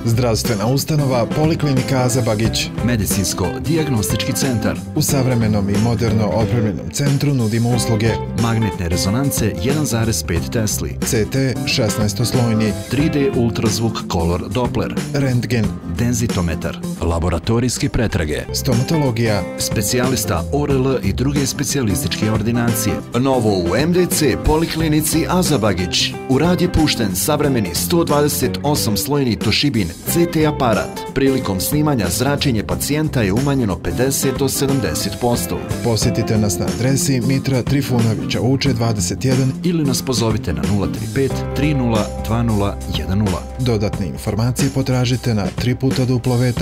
Zdravstvena ustanova Poliklinika Aza Bagić. Medicinsko-dijagnostički centar. U savremenom i moderno opremljenom centru nudimo usluge magnetne rezonance 1,5 Tesli, CT 16-slojni, 3D ultrazvuk Color Doppler, rentgen, denzitometar, laboratorijske pretrage, stomatologija, specijalista ORL i druge specijalističke ordinacije. Novo u MDC Poliklinici Aza Bagić. U rad je pušten savremeni 128-slojni Toshibin CT aparat. Prilikom snimanja zračenje pacijenta je umanjeno 50 do 70%. Posjetite nas na adresi Mitra Trifunovića Uče 21 ili nas pozovite na 035 30 20 10. Dodatne informacije potražite na www.mcd.ba.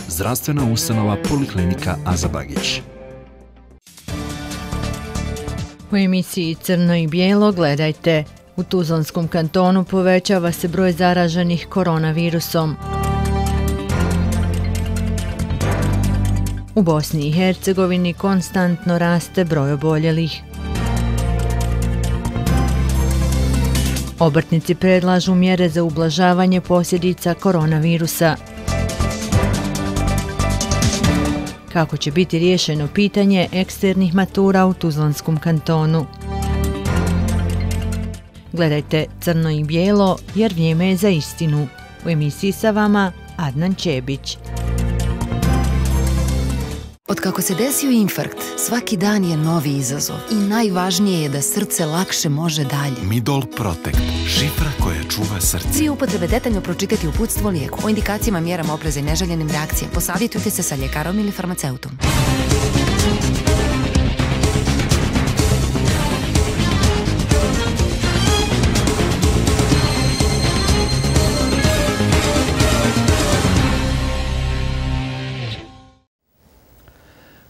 Zdravstvena ustanova Poliklinika Aza Bagić. U emisiji Crno i bijelo gledajte: u Tuzlanskom kantonu povećava se broj zaraženih koronavirusom. U Bosni i Hercegovini konstantno raste broj oboljelih. Obrtnici predlažu mjere za ublažavanje posljedica koronavirusa. Kako će biti riješeno pitanje eksternih matura u Tuzlanskom kantonu? Gledajte Crno i bijelo jer vrijeme je za istinu. U emisiji sa vama Adnan Čebić. Otkako se desio infarkt, svaki dan je novi izazov i najvažnije je da srce lakše može dalje. Midol Protect, šifra koja čuva srce. Prije upotrebe detaljno pročitati uputstvo o lijeku, o indikacijama, mjerama opreza i neželjenim reakcijama. Posavjetujte se sa ljekarom ili farmaceutom.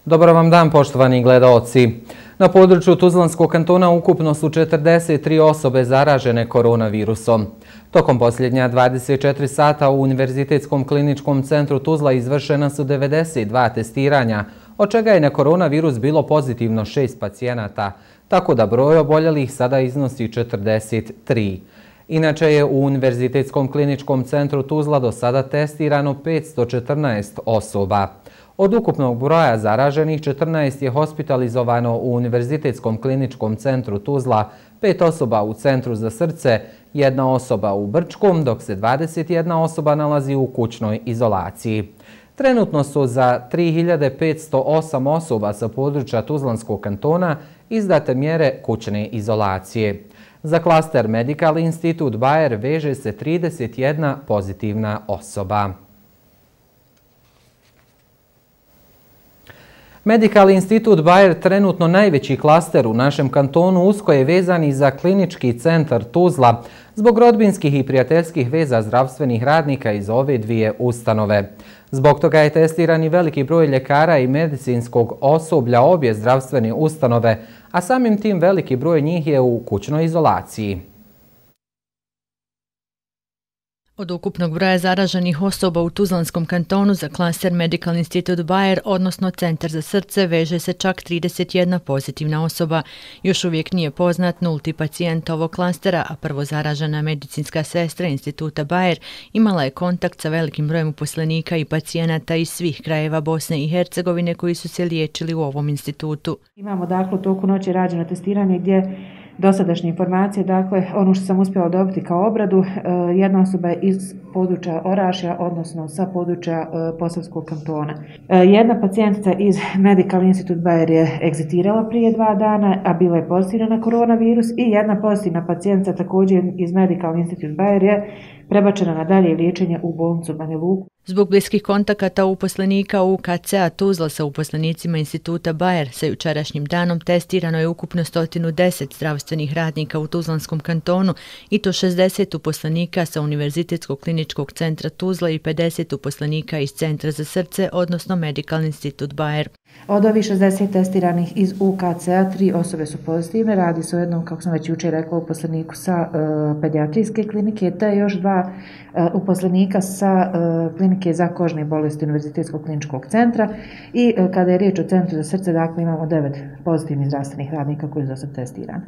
Dobar vam dan, poštovani gledaoci. Na području Tuzlanskog kantona ukupno su 43 osobe zaražene koronavirusom. Tokom posljednja 24 sata u Univerzitetskom kliničkom centru Tuzla izvršena su 92 testiranja, od čega je na koronavirus bilo pozitivno 6 pacijenata, tako da broj oboljelih sada iznosi 43. Inače je u Univerzitetskom kliničkom centru Tuzla do sada testirano 514 osoba. Od ukupnog broja zaraženih, 14 je hospitalizovano u Univerzitetskom kliničkom centru Tuzla, 5 osoba u Centru za srce, 1 osoba u Brčkom, dok se 21 osoba nalazi u kućnoj izolaciji. Trenutno su za 3508 osoba sa područja Tuzlanskog kantona izdate mjere kućne izolacije. Za klaster Medical Institute Bayer veže se 31 pozitivna osoba. Medical Institute Bayer, trenutno najveći klaster u našem kantonu, usko je vezan i za klinički centar Tuzla zbog rodbinskih i prijateljskih veza zdravstvenih radnika iz ove dvije ustanove. Zbog toga je testiran i veliki broj ljekara i medicinskog osoblja obje zdravstvene ustanove, a samim tim veliki broj njih je u kućnoj izolaciji. Od ukupnog broja zaraženih osoba u Tuzlanskom kantonu za klaster Medical Institute Bayer, odnosno Centar za srce, veže se čak 31 pozitivna osoba. Još uvijek nije poznat nulti pacijent ovog klastera, a prvo zaražena medicinska sestra Instituta Bayer imala je kontakt sa velikim brojem uposlenika i pacijenata iz svih krajeva Bosne i Hercegovine koji su se liječili u ovom institutu. Imamo dakle u toku noći rađeno testiranje gdje dosadašnje informacije, dakle ono što sam uspjela dobiti kao obradu, jedna osoba je iz područja Orašja, odnosno sa područja Posavskog kantona. Jedna pacijentica iz Medical Institute Bayer je egzitirala prije 2 dana, a bila je pozitivna na koronavirus, i jedna pozitivna pacijentica također iz Medical Institute Bayer je prebačena na dalje liječenje u bolnicu Banja Luku. Zbog bliskih kontakata uposlenika UKC-a Tuzla sa uposlenicima Instituta Bayer sa jučerašnjim danom testirano je ukupno 110 zdravstvenih radnika u Tuzlanskom kantonu, i to 60 uposlenika sa Univerzitetskog kliničkog centra Tuzla i 50 uposlenika iz Centra za srce, odnosno Medical Institute Bayer. Od ovih 60 testiranih iz UKC-a 3 osobe su pozitivne. Radi se o jednom, kako sam već jučer rekla, uposleniku sa pedijatrijske klinike, te još 2 uposlenika sa klinike za kožne bolesti Univerzitetskog kliničkog centra. I kada je riječ o Centru za srce, dakle imamo 9 pozitivnih zdravstvenih radnika koji su do sad testirani.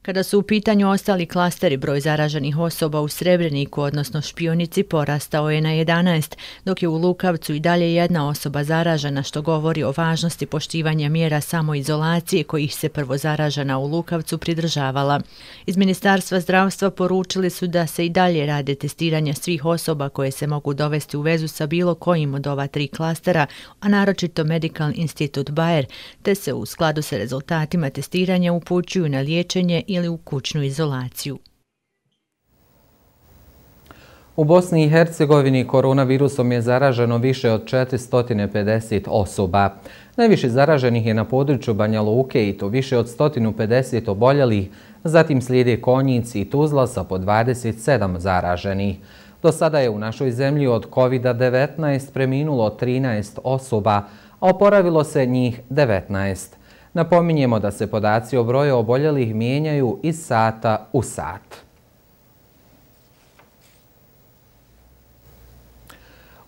Kada su u pitanju ostali klasteri, broj zaraženih osoba u Srebreniku, odnosno Špionici, porastao je na 11, dok je u Lukavcu i dalje jedna osoba zaražena, što govori o važnosti poštivanja mjera samoizolacije kojih se prvo zaražena u Lukavcu pridržavala. Iz Ministarstva zdravstva poručili su da se i dalje rade testiranja svih osoba koje se mogu dovesti u vezu sa bilo kojim od ova 3 klastera, a naročito Medical Institute Bayer, te se u skladu sa rezultatima testiranja upućuju na liječenje ili u kućnu izolaciju. U Bosni i Hercegovini koronavirusom je zaraženo više od 450 osoba. Najviše zaraženih je na području Banja Luke i to više od 150 oboljelih, zatim slijede Konjic i Tuzla sa po 27 zaraženih. Do sada je u našoj zemlji od COVID-19 preminulo 13 osoba, a oporavilo se njih 19. Napominjemo da se podaci o broju oboljelih mijenjaju iz sata u sat.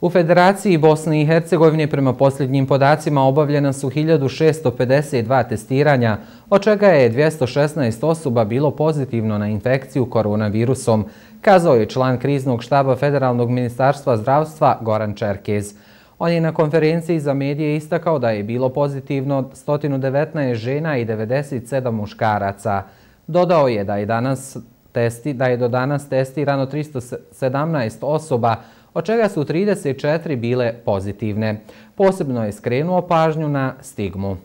U Federaciji Bosne i Hercegovine prema posljednjim podacima obavljena su 1652 testiranja, od čega je 216 osoba bilo pozitivno na infekciju koronavirusom, kazao je član kriznog štaba Federalnog ministarstva zdravstva Goran Čerkez. On je na konferenciji za medije istakao da je bilo pozitivno 119 žena i 97 muškaraca. Dodao je da je do danas testirano 317 osoba, od čega su 34 bile pozitivne. Posebno je skrenuo pažnju na stigmu.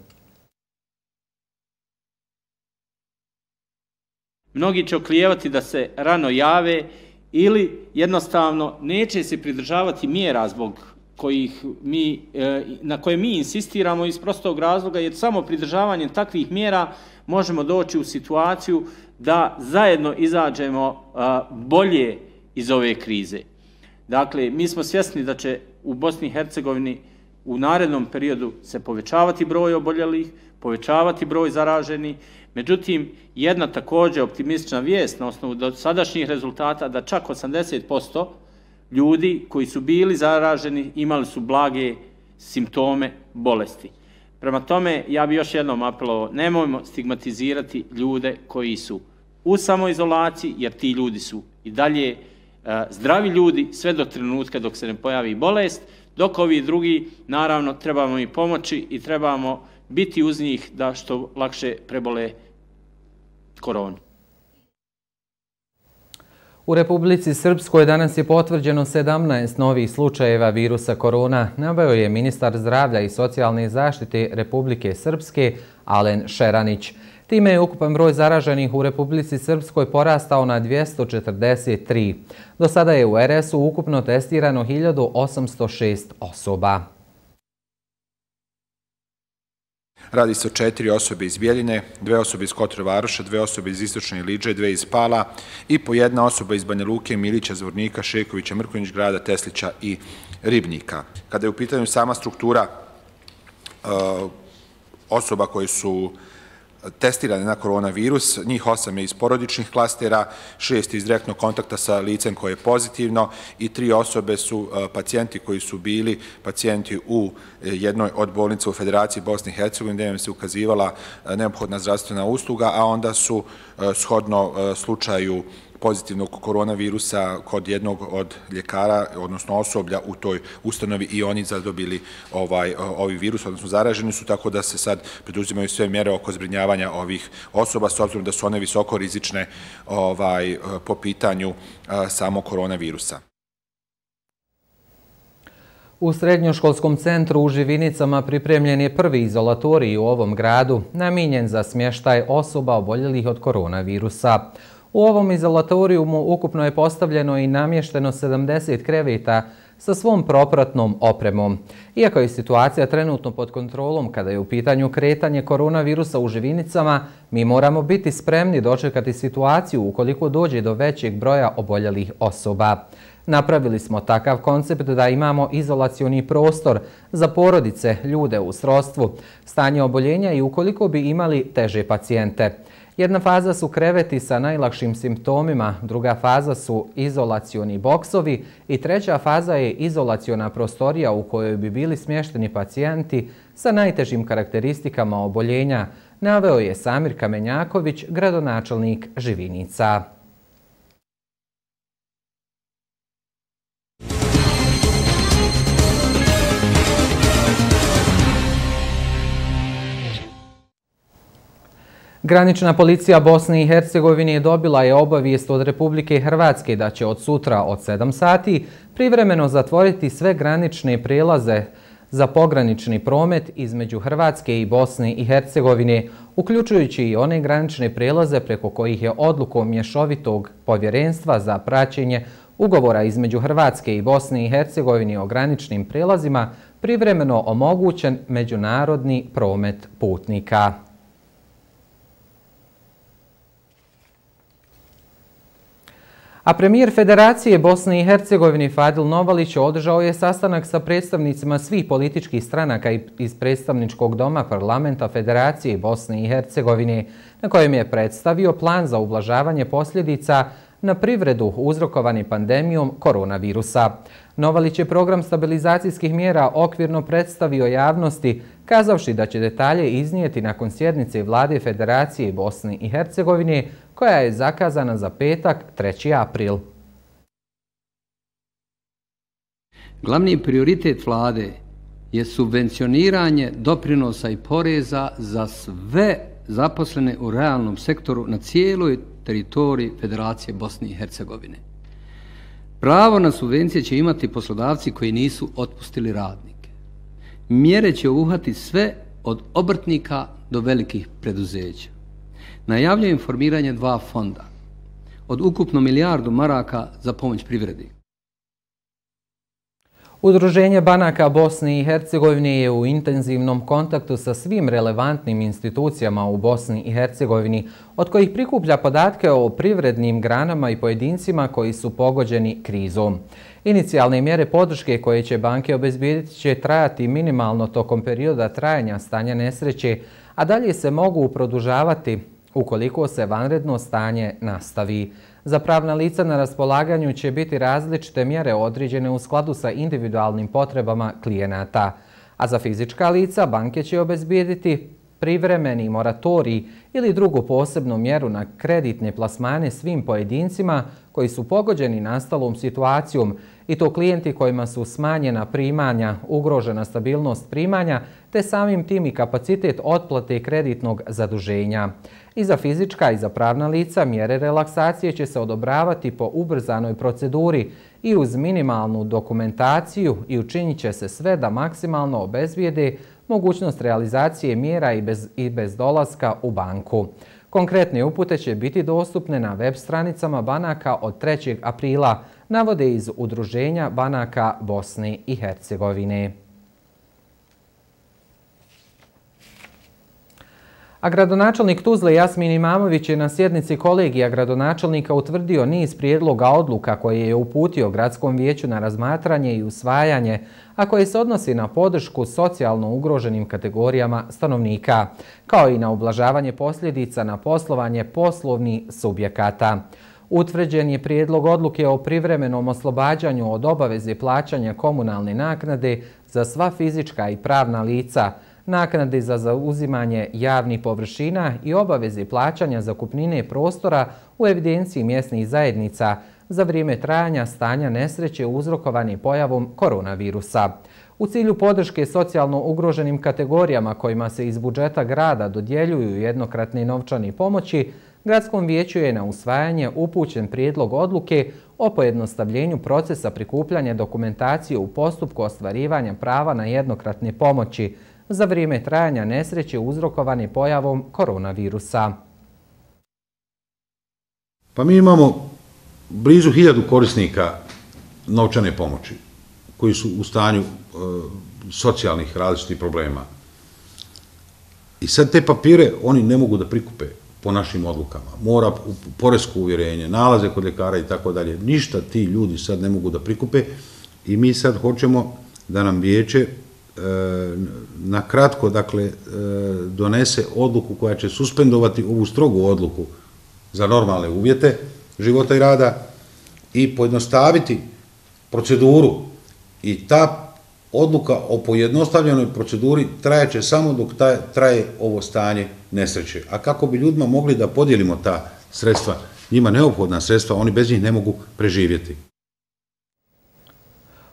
Mnogi će oklijevati da se rano jave ili jednostavno neće se pridržavati mjera na koje mi insistiramo iz prostog razloga, jer samo pridržavanjem takvih mjera možemo doći u situaciju da zajedno izađemo bolje iz ove krize. Dakle, mi smo svjesni da će u Bosni i Hercegovini u narednom periodu se povećavati broj oboljelih, povećavati broj zaraženih. Međutim, jedna također optimistična vijest na osnovu dosadašnjih rezultata da čak 80% ljudi koji su bili zaraženi imali su blage simptome bolesti. Prema tome, ja bih još jednom apelovao, nemojmo stigmatizirati ljude koji su u samoizolaciji, jer ti ljudi su i dalje zdravi ljudi sve do trenutka dok se ne pojavi bolest, dok ovi drugi, naravno, trebamo im pomoći i trebamo biti uz njih da što lakše prebole koronu. U Republici Srpskoj danas je potvrđeno 17 novih slučajeva virusa korona, naveo je ministar zdravlja i socijalne zaštite Republike Srpske Alen Šeranić. Time je ukupan broj zaraženih u Republici Srpskoj porastao na 243. Do sada je u RS-u ukupno testirano 1806 osoba. Radi se o 4 osobe iz Bjeljine, 2 osobe iz Kotor Varoša, 2 osobe iz Istočne Iliđe, 2 iz Pala i po 1 osoba iz Banja Luke, Milića, Zvornika, Šekovića, Mrkonjić grada, Teslića i Ribnika. Kada je u pitanju sama struktura osoba koje su testirane na koronavirus, njih 8 je iz porodičnih klastera, 6 iz direktnog kontakta sa licem koje je pozitivno i 3 osobe su pacijenti koji su bili pacijenti u jednoj od bolnica u Federaciji Bosne i Hercegovine gdje im se ukazivala neophodna zdravstvena usluga, a onda su shodno slučaju pozitivnog koronavirusa kod jednog od ljekara, odnosno osoblja u toj ustanovi i oni zadobili ovi virus, odnosno zaraženi su, tako da se sad preduzimaju sve mjere oko zbrinjavanja ovih osoba, s obzirom da su one visoko rizične po pitanju samog koronavirusa. U Srednjoškolskom centru u Živinicama pripremljen je prvi izolatorij u ovom gradu, namijenjen za smještaj osoba oboljelih od koronavirusa. U ovom izolatorijumu ukupno je postavljeno i namješteno 70 kreveta sa svom propratnom opremom. Iako je situacija trenutno pod kontrolom kada je u pitanju kretanje koronavirusa u Živinicama, mi moramo biti spremni dočekati situaciju ukoliko dođe do većeg broja oboljelih osoba. Napravili smo takav koncept da imamo izolacioni prostor za porodice, ljude u srodstvu, stanje oboljenja i ukoliko bi imali teže pacijente. Jedna faza su kreveti sa najlakšim simptomima, druga faza su izolacioni boksovi i treća faza je izolaciona prostorija u kojoj bi bili smješteni pacijenti sa najtežim karakteristikama oboljenja, naveo je Samir Kamenjaković, gradonačelnik Živinica. Granična policija Bosne i Hercegovine dobila je obavijest od Republike Hrvatske da će od sutra od 7 sati privremeno zatvoriti sve granične prelaze za pogranični promet između Hrvatske i Bosne i Hercegovine, uključujući i one granične prelaze preko kojih je odlukom mješovitog povjerenstva za praćenje ugovora između Hrvatske i Bosne i Hercegovine o graničnim prelazima privremeno omogućen međunarodni promet putnika. A premijer Federacije Bosne i Hercegovine Fadil Novalić održao je sastanak sa predstavnicima svih političkih stranaka iz predstavničkog doma parlamenta Federacije Bosne i Hercegovine, na kojem je predstavio plan za ublažavanje posljedica na privredu uzrokovani pandemijom koronavirusa. Novalić je program stabilizacijskih mjera okvirno predstavio javnosti, kazavši da će detalje iznijeti nakon sjednice Vlade Federacije Bosne i Hercegovine, koja je zakazana za petak 3. april. Glavni prioritet Vlade je subvencioniranje doprinosa i poreza za sve zaposlene u realnom sektoru na cijeloj teritoriji Federacije Bosne i Hercegovine. Pravo na subvencije će imati poslodavci koji nisu otpustili radnike. Mjere će obuhvatiti sve od obrtnika do velikih preduzeća. Najavljuje formiranje 2 fonda od ukupno milijardu maraka za pomoć privredi. Udruženje banaka Bosne i Hercegovine je u intenzivnom kontaktu sa svim relevantnim institucijama u Bosni i Hercegovini, od kojih prikuplja podatke o privrednim granama i pojedincima koji su pogođeni krizom. Inicijalne mjere podrške koje će banke obezbijediti će trajati minimalno tokom perioda trajanja stanja nesreće, a dalje se mogu produžavati ukoliko se vanredno stanje nastavi. Za pravna lica na raspolaganju će biti različite mjere određene u skladu sa individualnim potrebama klijenata, a za fizička lica banke će obezbijediti privremeni moratorij ili drugu posebnu mjeru na kreditne plasmane svim pojedincima koji su pogođeni nastalom situacijom, i to klijenti kojima su smanjena primanja, ugrožena stabilnost primanja, te samim tim i kapacitet otplate kreditnog zaduženja. I za fizička i za pravna lica mjere relaksacije će se odobravati po ubrzanoj proceduri i uz minimalnu dokumentaciju i učinit će se sve da maksimalno obezbijede mogućnost realizacije mjera i bez dolaska u banku. Konkretne upute će biti dostupne na web stranicama banaka od 3. aprila, navode iz Udruženja banaka Bosne i Hercegovine. A gradonačelnik Tuzle Jasmin Imamović je na sjednici kolegija gradonačelnika utvrdio niz prijedloga odluka koje je uputio Gradskom vijeću na razmatranje i usvajanje, a koje se odnosi na podršku socijalno ugroženim kategorijama stanovnika, kao i na ublažavanje posljedica na poslovanje poslovnih subjekata. Utvrđen je prijedlog odluke o privremenom oslobađanju od obaveze plaćanja komunalne naknade za sva fizička i pravna lica, naknade za zauzimanje javnih površina i obaveze plaćanja zakupnine prostora u evidenciji mjesnih zajednica za vrijeme trajanja stanja nesreće uzrokovane pojavom koronavirusa. U cilju podrške socijalno ugroženim kategorijama kojima se iz budžeta grada dodjeljuju jednokratne novčane pomoći, Gradskom vijeću je na usvajanje upućen prijedlog odluke o pojednostavljenju procesa prikupljanja dokumentacije u postupku ostvarivanja prava na jednokratne pomoći za vrijeme trajanja nesreće uzrokovane pojavom koronavirusa. Pa mi imamo blizu 1000 korisnika novčane pomoći koji su u stanju socijalnih različitih problema. I sad te papire oni ne mogu da prikupe po našim odlukama. Mora poresko uvjerenje, nalaze kod ljekara i tako dalje. Ništa ti ljudi sad ne mogu da prikupe i mi sad hoćemo da nam vijeće na kratko, dakle, donese odluku koja će suspendovati ovu strogu odluku za normalne uvjete života i rada i pojednostaviti proceduru i ta odluka o pojednostavljenoj proceduri trajeće samo dok traje ovo stanje nesreće. A kako bi ljudima mogli da podijelimo ta sredstva, njima neophodna sredstva, oni bez njih ne mogu preživjeti.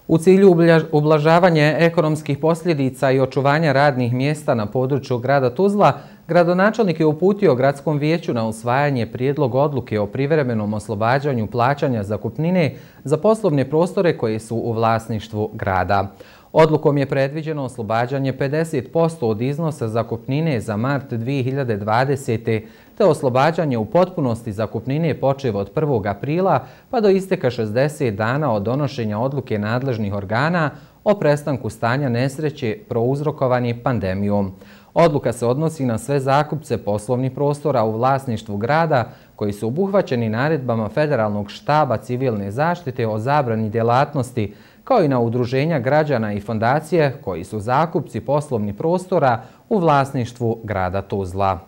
U cilju ublažavanja ekonomskih posljedica i očuvanja radnih mjesta na području grada Tuzla, gradonačelnik je uputio gradskom vijeću na usvajanje prijedlog odluke o privremenom oslobađanju plaćanja zakupnine za poslovne prostore koje su u vlasništvu grada. Odlukom je predviđeno oslobađanje 50% od iznosa zakupnine za mart 2020. te oslobađanje u potpunosti zakupnine počev od 1. aprila pa do isteka 60 dana od donošenja odluke nadležnih organa o prestanku stanja nesreće prouzrokovani pandemijom. Odluka se odnosi na sve zakupce poslovnih prostora u vlasništvu grada koji su obuhvaćeni naredbama Federalnog štaba civilne zaštite o zabrani djelatnosti, kao i na udruženja građana i fondacije koji su zakupci poslovnih prostora u vlasništvu grada Tuzla.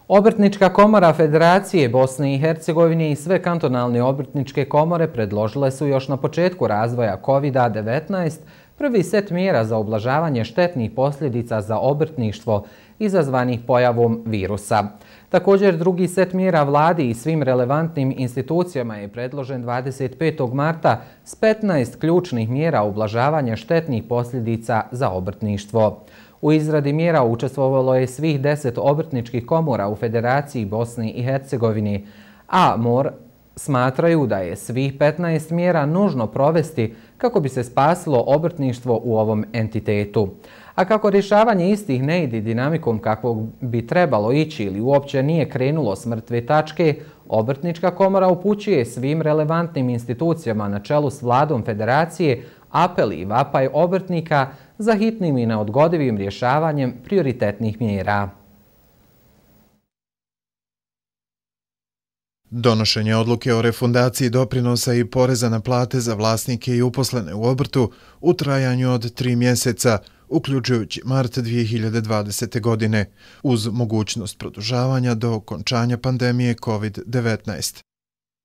Obrtnička komora Federacije Bosne i Hercegovine i sve kantonalne obrtničke komore predložile su još na početku razvoja COVID-19 prvi set mjera za ublažavanje štetnih posljedica za obrtništvo izazvanih pojavom virusa. Također, drugi set mjera vladi i svim relevantnim institucijama je predložen 25. marta s 15 ključnih mjera ublažavanja štetnih posljedica za obrtništvo. U izradi mjera učestvovalo je svih 10 obrtničkih komora u Federaciji Bosne i Hercegovine, a smatraju da je svih 15 mjera nužno provesti kako bi se spasilo obrtništvo u ovom entitetu. A kako rješavanje istih ne ide dinamikom kakvog bi trebalo ići ili uopće nije krenulo s mrtve tačke, Obrtnička komora upućuje svim relevantnim institucijama na čelu s vladom Federacije apel i vapaj obrtnika za hitnim i neodgodivim rješavanjem prioritetnih mjera. Donošenje odluke o refundaciji doprinosa i poreza na plate za vlasnike i uposlene u obrtu u trajanju od 3 mjeseca, uključujući mart 2020. godine, uz mogućnost produžavanja do okončanja pandemije COVID-19.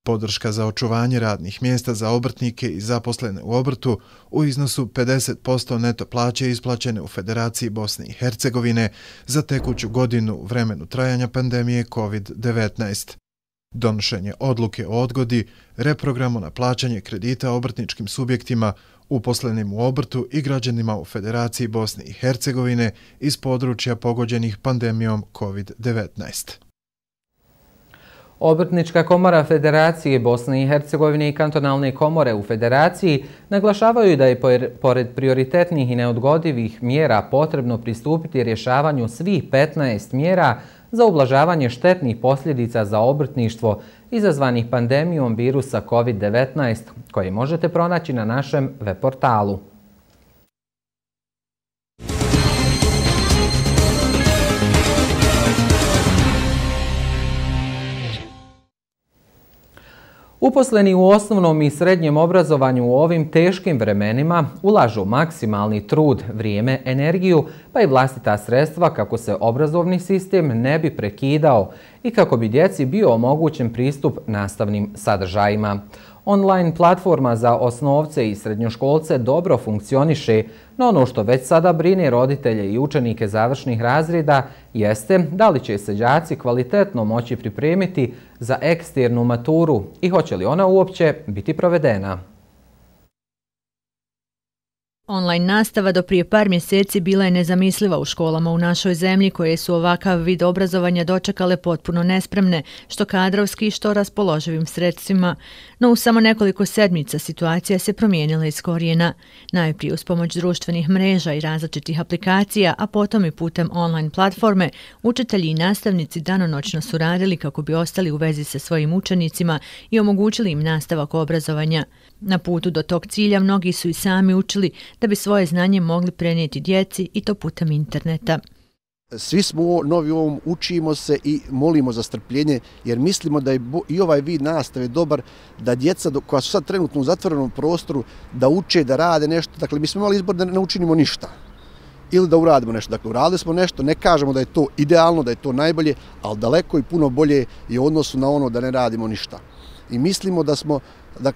Podrška za očuvanje radnih mjesta za obrtnike i zaposlene u obrtu u iznosu 50% neto plaće isplaćene u Federaciji Bosne i Hercegovine za tekuću godinu u vremenu trajanja pandemije COVID-19. Donošenje odluke o odgodi, reprogramu na plaćanje kredita obrtničkim subjektima, uposlenim u obrtu i građanima u Federaciji Bosne i Hercegovine iz područja pogođenih pandemijom COVID-19. Obrtnička komora Federacije Bosne i Hercegovine i kantonalne komore u Federaciji naglašavaju da je pored prioritetnih i neodgodivih mjera potrebno pristupiti rješavanju svih 15 mjera za ublažavanje štetnih posljedica za obrtništvo izazvanih pandemijom virusa COVID-19, koje možete pronaći na našem web portalu. Uposleni u osnovnom i srednjem obrazovanju u ovim teškim vremenima ulažu maksimalni trud, vrijeme, energiju pa i vlastita sredstva kako se obrazovni sistem ne bi prekidao i kako bi djeci bio omogućen pristup nastavnim sadržajima. Online platforma za osnovce i srednjoškolce dobro funkcioniše, no ono što već sada brine roditelje i učenike završnih razreda jeste da li će se đaci kvalitetno moći pripremiti za eksternu maturu i hoće li ona uopće biti provedena. Online nastava do prije par mjeseci bila je nezamisliva u školama u našoj zemlji koje su ovakav vid obrazovanja dočekale potpuno nespremne, što kadrovski, što raspoloživim sredstvima. No u samo nekoliko sedmica situacija se promijenila iz korijena. Najprije uz pomoć društvenih mreža i različitih aplikacija, a potom i putem online platforme, učitelji i nastavnici danonoćno su radili kako bi ostali u vezi sa svojim učenicima i omogućili im nastavak obrazovanja. Na putu do tog cilja mnogi su i sami učili da bi svoje znanje mogli prenijeti djeci i to putem interneta. Svi smo novi u ovom, učimo se i molimo za strpljenje jer mislimo da je i ovaj vid nastave dobar da djeca koja su sad trenutno u zatvorenom prostoru da uče, da rade nešto. Dakle, mi smo imali izbor da ne učinimo ništa ili da uradimo nešto. Dakle, uradili smo nešto, ne kažemo da je to idealno, da je to najbolje, ali daleko i puno bolje je u odnosu na ono da ne radimo ništa. i mislimo da smo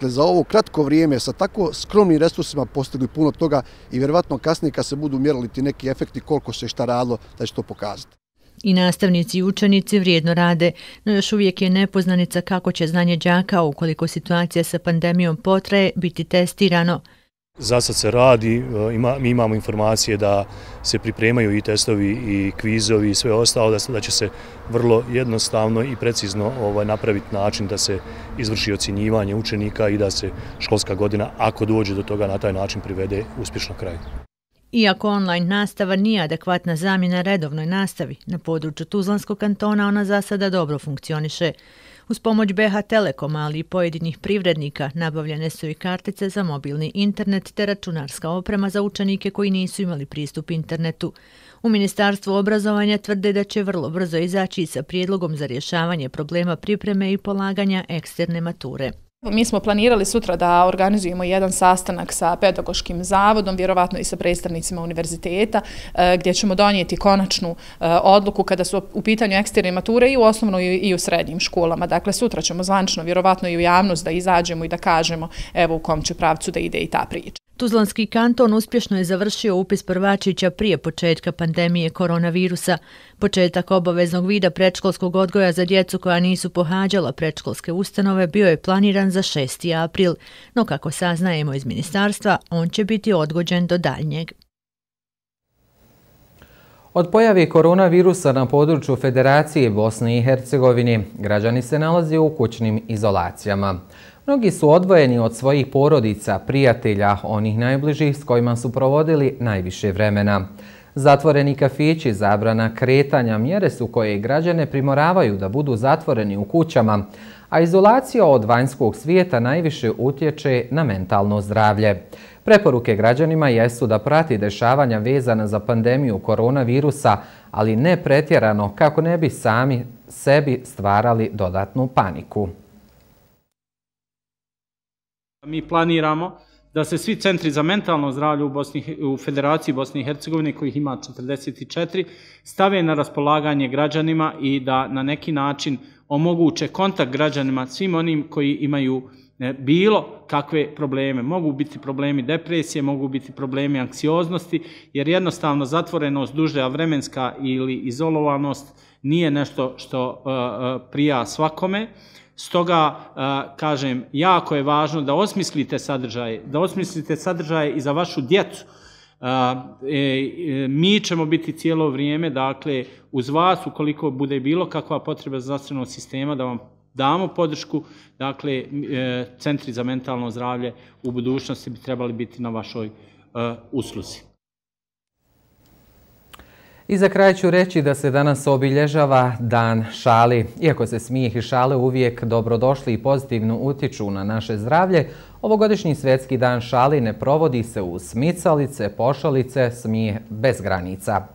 za ovo kratko vrijeme sa tako skromnim resursima postigli puno toga i vjerovatno kasnije kad se budu mjerili ti neki efekti koliko se šta radilo da će to pokazati. I nastavnici i učenici vrijedno rade, no još uvijek je nepoznanica kako će znanje đaka, ukoliko situacija sa pandemijom potraje, biti testirano. Za sad se radi, mi imamo informacije da se pripremaju i testovi i kvizovi i sve ostalo, da će se vrlo jednostavno i precizno napraviti način da se izvrši ocjenjivanje učenika i da se školska godina, ako dođe do toga, na taj način privede uspješno kraju. Iako online nastava nije adekvatna zamjena redovnoj nastavi, na području Tuzlanskog kantona ona za sada dobro funkcioniše. Uz pomoć BH Telekoma, ali i pojedinih privrednika, nabavljene su i kartice za mobilni internet te računarska oprema za učenike koji nisu imali pristup internetu. U Ministarstvu obrazovanja tvrde da će vrlo brzo izaći sa prijedlogom za rješavanje problema pripreme i polaganja eksterne mature. Mi smo planirali sutra da organizujemo jedan sastanak sa pedagoškim zavodom, vjerovatno i sa predstavnicima univerziteta, gdje ćemo donijeti konačnu odluku kada su u pitanju eksterne mature i u osnovnoj i u srednjim školama. Dakle, sutra ćemo zvančno, vjerovatno i u javnost, da izađemo i da kažemo evo u kom će pravcu da ide i ta priča. Tuzlanski kanton uspješno je završio upis prvačića prije početka pandemije koronavirusa. Početak obaveznog vida predškolskog odgoja za djecu koja nisu pohađala predškolske ustanove bio je planiran za 6. april, no kako saznajemo iz ministarstva, on će biti odgođen do daljnjeg. Od pojave koronavirusa na području Federacije Bosne i Hercegovine građani se nalaze u kućnim izolacijama. Mnogi su odvojeni od svojih porodica, prijatelja, onih najbližih s kojima su provodili najviše vremena. Zatvoreni kafići, zabrana kretanja, mjere su koje građane primoravaju da budu zatvoreni u kućama, a izolacija od vanjskog svijeta najviše utječe na mentalno zdravlje. Preporuke građanima jesu da prati dešavanja vezana za pandemiju koronavirusa, ali ne pretjerano kako ne bi sami sebi stvarali dodatnu paniku. Mi planiramo da se svi centri za mentalno zdravlje u Federaciji Bosne i Hercegovine, kojih ima 44, stave na raspolaganje građanima i da na neki način omoguće kontakt građanima, svim onim koji imaju bilo kakve probleme. Mogu biti problemi depresije, mogu biti problemi anksioznosti, jer jednostavno zatvorenost duža vremenska ili izolovanost nije nešto što prija svakome. Stoga, kažem, jako je važno da osmislite sadržaje i za vašu djecu. Mi ćemo biti cijelo vrijeme, dakle, uz vas, ukoliko bude bilo kakva potreba zdravstvenog sistema, da vam damo podršku. Dakle, centri za mentalno zdravlje u budućnosti bi trebali biti na vašoj usluzi. I za kraj ću reći da se danas obilježava Dan šali. Iako se smijeh i šale uvijek dobrodošli i pozitivno utječu na naše zdravlje, ovogodišnji svjetski Dan šali ne provodi se uz smicalice, pošalice, smijeh bez granica.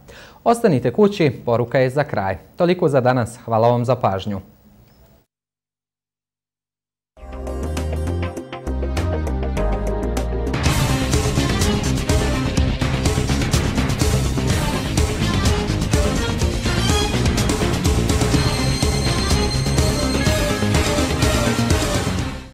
Ostanite kući, poruka je za kraj. Toliko za danas. Hvala vam za pažnju.